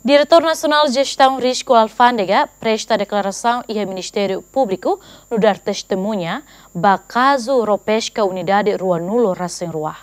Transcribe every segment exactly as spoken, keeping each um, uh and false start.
Diretór Nasionál Jestaun Risku Alfándega presta deklarasaun iha Ministériu Públiku nu'udar testemuña ba kazu ró peska unidade ruanulu-resin-rua.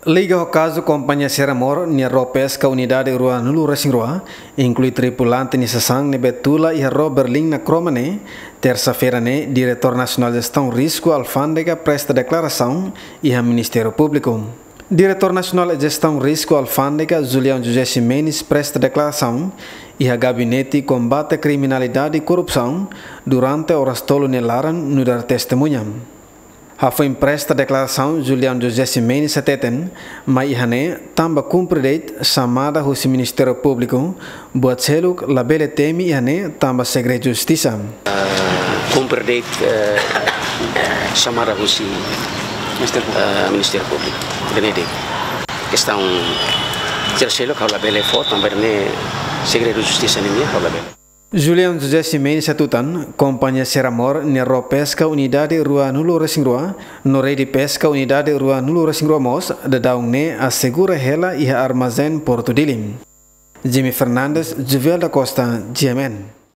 Liga ho kazu Kompañia Seramor nia ró peska unidade ruanulu-resin-rua, inklui tripulante nia sasán ne'ebé tula iha ró berlin na kromo ne'e, tersa-feira ne'e, Diretór Nasionál Jestaun Risku Alfándega presta deklarasaun iha Ministériu Públiku. Diretór Nasionál Jestaun Risku Alfándega, Julião José Ximenes, presta deklarasaun iha Gabinete Kombate Kriminalidade i Korrupsaun durante oras tolu nia laran nu'udar testemuña. Hafoin presta deklarasaun, Julião José Ximenes hateten, mai iha ne'e tanba kumpre de'it xamada husi Ministériu Públiku, buat seluk labele temi iha ne'e tanba segredu justisa. Kumpre de'it, eh, xamada husi Ministériu Públiku. Eh, Ministériu Públiku. Ida-ne'e de'it. Kestaun sira seluk ha'u labele fó, tanba ida-ne'e segredu justisa nian, ha'u labele. Julião José Ximenes hatutan, Kompañia Seramor nia ró peska unidade ruanulu-resin-rua, no rede peska unidade ruanulu-resin-rua mós, daudaun ne'e asegura hela iha armazén Portu Dili. Jimmy Fernandes, Juvel da Costa, G M N.